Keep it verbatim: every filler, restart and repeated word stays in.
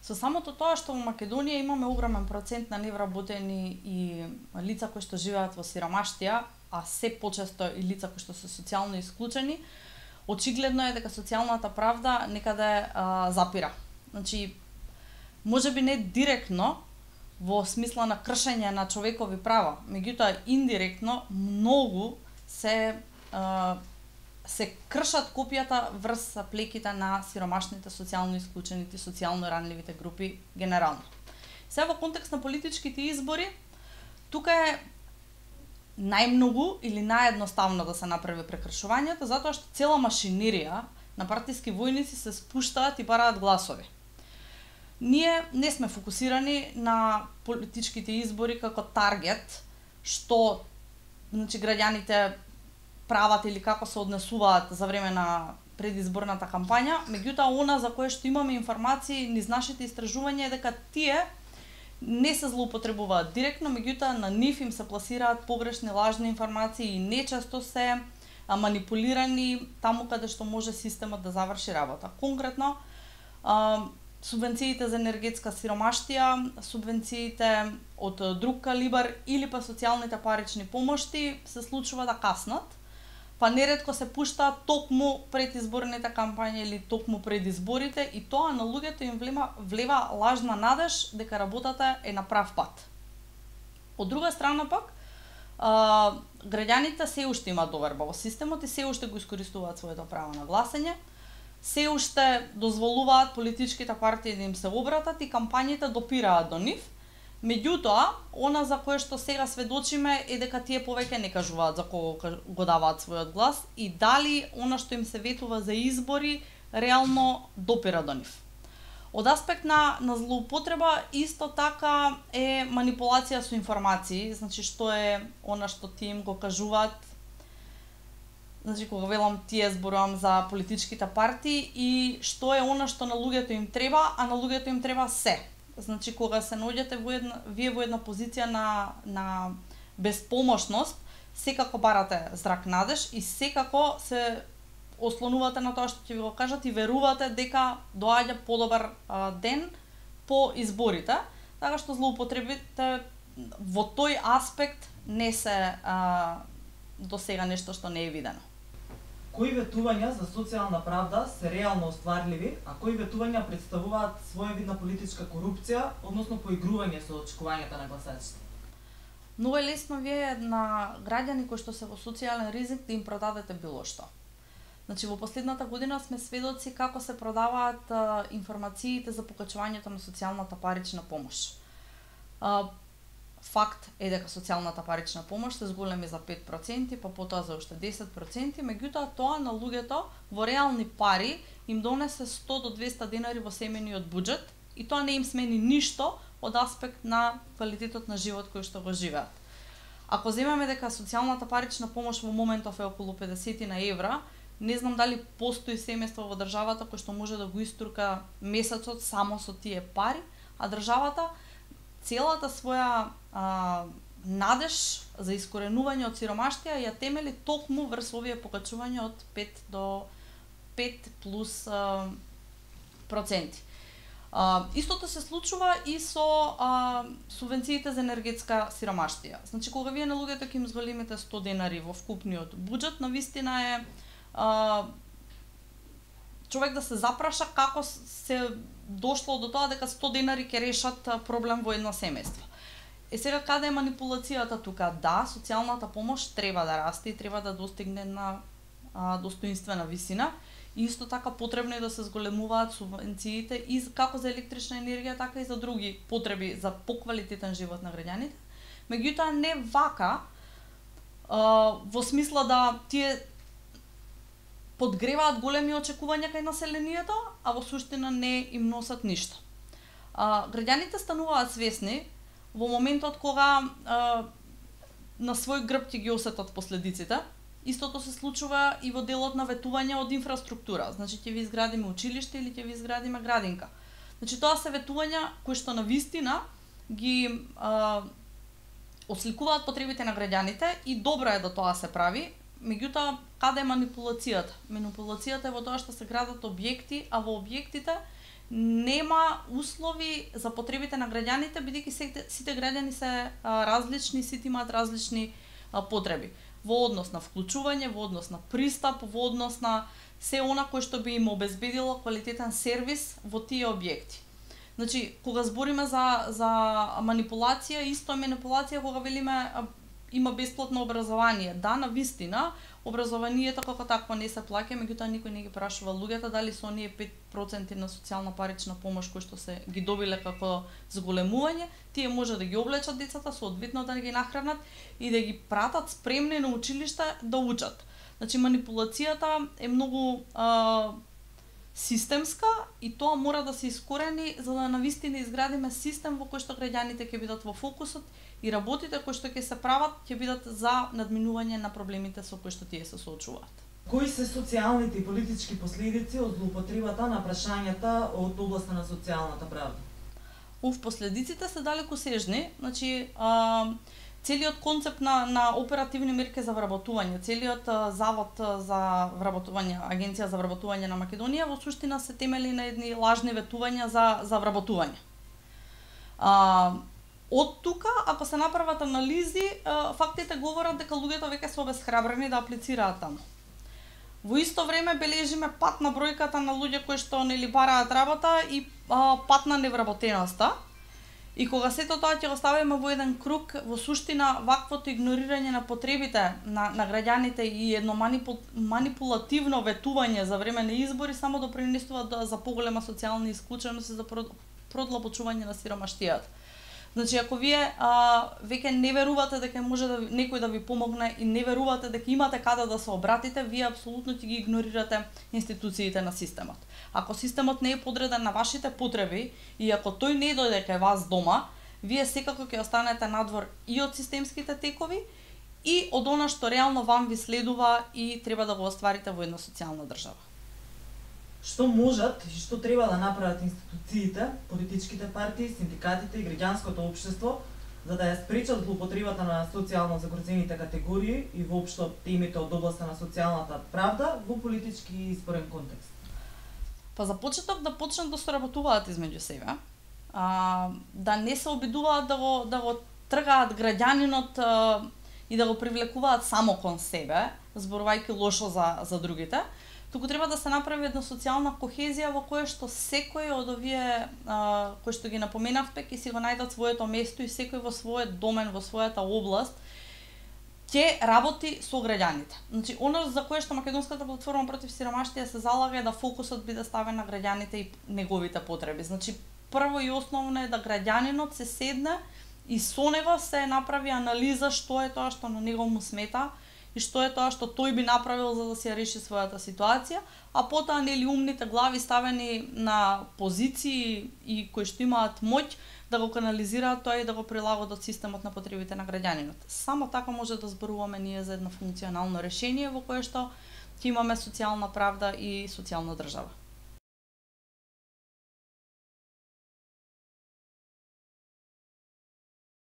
Со самото тоа што во Македонија имаме огромен процент на невработени и лица кои што живеат во сиромаштија, а се почесто и лица кои што се социјално исклучени, очигледно е дека социјалната правда некаде а, запира. Значи, можеби не директно во смисла на кршење на човекови права, меѓутоа индиректно многу се а, се кршат копијата врз плеките на сиромашните, социјално исклучените, социјално ранливите групи генерално. Се во контекст на политичките избори, тука е најмногу или наједноставно да се направи прекршувањето, затоа што цела машинерија на партиски војници се спуштаат и бараат гласови. Ние не сме фокусирани на политичките избори како таргет, што значи граѓаните прават или како се однесуваат за време на предизборната кампања, меѓутоа она за кое што имаме информации низ нашите истражувања е дека тие не се злоупотребуваат директно, меѓутоа на нив им се пласираат погрешни, лажни информации и нечесто се манипулирани таму каде што може системот да заврши работа. Конкретно, субвенциите за енергетска сиромаштија, субвенциите од друг калибар или па социјалните парични помошти се случува да каснат, па неретко се пуштаат токму пред изборните кампањи или токму пред изборите и тоа на луѓето им влема, влева лажна надеж дека работата е на прав пат. Од друга страна пак, а, граѓаните се уште имаат доверба во системот и се уште го искористуваат своето право на гласање, се уште дозволуваат политичките партии да им се обратат и кампањите допираат до нив. Меѓутоа, она за кое што сега сведочиме е дека тие повеќе не кажуваат за кого го даваат својот глас и дали она што им се ветува за избори реално допира до нив. Од аспект на, на злоупотреба, исто така е манипулација со информации, значи што е она што тие им го кажуваат. Значи, кога велам тие зборувам за политичките партии и што е она што на луѓето им треба, а на луѓето им треба се. Значи, кога се наоѓате во една, вие во една позиција на, на безпомошност, секако барате зрак надеж и секако се ослонувате на тоа што ќе ви го кажат и верувате дека доаѓа подобар а, ден по изборите, така што злоупотребите во тој аспект не се а, до сега нешто што не е видено. Кои ветувања за социјална правда се реално остварливи, а кои ветувања представуваат своевидна политичка корупција, односно поигрување со очекувањата на гласачите? Многу е лесно вие на граѓани кои што се во социјален ризик да им продадете било што. Значи, во последната година сме сведоци како се продаваат а, информациите за покачувањето на социјалната парична помош. А, Факт е дека социјалната парична помош се зголеми за пет проценти, па потоа за уште десет проценти, меѓутоа тоа на луѓето во реални пари им донесе сто до двесте денари во семејниот буџет и тоа не им смени ништо од аспект на квалитетот на живот кој што го живеат. Ако земеме дека социјалната парична помош во моментов е околу педесет евра, не знам дали постои семејство во државата кој што може да го иструка месецот само со тие пари, а државата целата своја а, надеж за искоренување од сиромаштија ја темели токму врз овие покачувања од пет до пет плюс а, проценти. А, истото се случува и со а, субвенциите за енергетска сиромаштија. Значи, кога вие на луѓето ќе им зголемите сто денари во вкупниот буџет, навистина е а, човек да се запраша како се дошло до тоа дека сто денари ќе решат проблем во едно семејство. Е сега каде е манипулацијата тука? Да, социјалната помош треба да расте и треба да достигне на а, достоинствена висина. И исто така потребно е да се зголемуваат субвенциите и како за електрична енергија, така и за други потреби за поквалитетен живот на граѓаните. Меѓутоа не вака а, во смисла да тие подгреваат големи очекувања кај населението, а во суштина не им носат ништо. А, граѓаните стануваат свесни во моментот кога а, на свој грб ќе ги осетат последиците. Истото се случува и во делот на ветување од инфраструктура. Значи, ќе ви изградиме училиште или ќе ви изградиме градинка. Значи, тоа се ветувања кои што на вистина ги а, осликуваат потребите на граѓаните и добро е да тоа се прави. Меѓутоа, каде е манипулацијата? Манипулацијата е во тоа што се градат објекти, а во објектите нема услови за потребите на граѓаните, бидејќи сите, сите граѓани се а, различни, сите имаат различни а, потреби во однос на вклучување, во однос на пристап, во однос на се она кој што би им обезбедило квалитетен сервис во тие објекти. Значи, кога збориме за за манипулација, исто е манипулација кога велиме а, има бесплатно образование. Да, на вистина, образованието како такво не се плаќа, меѓутоа никој не ги прашува луѓето дали со оние пет проценти на социјална парична помош кои што се ги добиле како зголемување, тие може да ги облечат децата, соодветно да ги нахранат и да ги пратат спремни на училиште да учат. Значи, манипулацијата е многу а, системска и тоа мора да се искорени за да навистина изградиме систем во кој што граѓаните ќе бидат во фокусот и работите кои што ќе се прават ќе бидат за надминување на проблемите со кои што тие се соочуваат. Кои се социјалните и политички последици од злоупотребата на прашањата од областа на социјалната правда? Ув, последиците се далекосежни, значи а, целиот концепт на, на оперативни мерки за вработување, целиот а, завод за вработување, Агенција за вработување на Македонија, во суштина се темели на едни лажни ветувања за, за вработување. А, од тука, ако се направат анализи, а, фактите говорат дека луѓето веќе се обесхрабрени да аплицираат таму. Во исто време бележиме пат на бројката на луѓе кои што нели бараат работа и а, пат на невработеноста. И кога сето тоа ќе го ставиме во еден круг, во суштина ваквото игнорирање на потребите на, на граѓаните и едно манипул, манипулативно ветување за време на избори само допринесува да, за поголема социјална исклученост и за продлабочување на сиромаштијата. Значи, ако вие а, веќе не верувате дека може да некој да ви помогне и не верувате дека имате каде да се обратите, вие апсолутно ќе ги игнорирате институциите на системот. Ако системот не е подреден на вашите потреби и ако тој не дојде кај вас дома, вие секако ќе останете надвор и од системските текови и од она што реално вам ви следува и треба да го остварите во една социјална држава. Што можат и што треба да направат институциите, политичките партии, синдикатите и граѓанското општество за да ја спречат злоупотребата на социјално загрозените категории и воопшто темите од областа на социјалната правда во политички и изборен контекст? Па за почеток да почнат да соработуваат измеѓу себе, а, да не се обидуваат да го да го тргаат граѓанинот а, и да го привлекуваат само кон себе, зборувајќи лошо за за другите. Туку треба да се направи една социјална кохезија во која што секој од овие а, кои што ги напоменавте ќе си го најдат своето место и секој во својот домен, во својата област ќе работи со граѓаните. Значи, оно за кое што Македонската платформа против сиромаштија се залага е да фокусот биде ставен на граѓаните и неговите потреби. Значи, прво и основно е да граѓанинот се седне и со него се направи анализа што е тоа што на него му смета и што е тоа што тој би направил за да се реши својата ситуација, а потоа нели умните глави ставени на позиции и кои што имаат моќ да го канализираат тоа и да го прилагодат системот на потребите на граѓанинот. Само така може да зборуваме ние за едно функционално решение во кое што ќе имаме социјална правда и социјална држава.